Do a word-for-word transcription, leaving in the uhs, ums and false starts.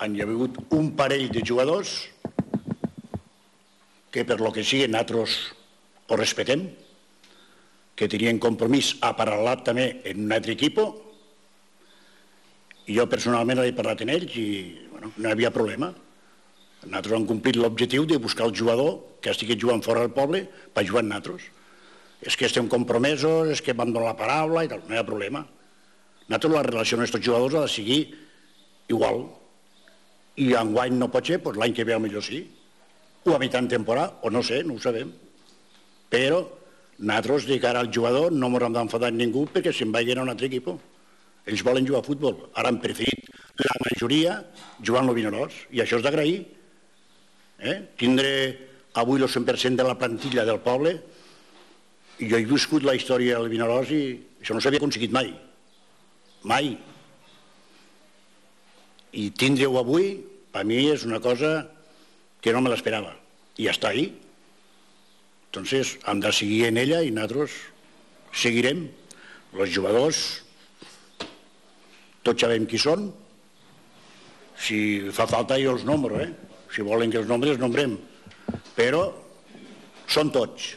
hi ha hagut un parell de jugadors que per lo que sigui nosaltres ho respetem, que tenien compromís aparelat també en un altre equip, i jo personalment he parlat amb ells i bueno, no hi havia problema. Nosaltres hem complit l'objectiu de buscar el jugador que estigui jugant fora del poble per jugar amb nosaltres. És que estem compromesos, és que vam donar la paraula i tal, no hi ha problema. Nosaltres la relació amb aquests jugadors ha de seguir igual. I enguany no pot ser, doncs l'any que ve millor sí. O a mitjan temporada, o no sé, no ho sabem. Però nosaltres, de cara al jugador, no ens hem d'enfadar ningú perquè se'n vagin a un altre equip. Ells volen jugar a futbol. Ara han preferit la majoria jugant al Vinaròs. I això és d'agrair. Eh? Tindre avui el cent per cent de la plantilla del poble. I jo he viscut la història del Vinaròs i això no s'havia aconseguit mai. Mai. I tindre-ho avui, per mi és una cosa que no me l'esperava. I ja està ahí. Entonces, hem de seguir en ella i nosaltres seguirem. Els jugadors, tots sabem qui són. Si fa falta jo els nombro, eh? Si volen que els nombres, els nombrem. Però són tots.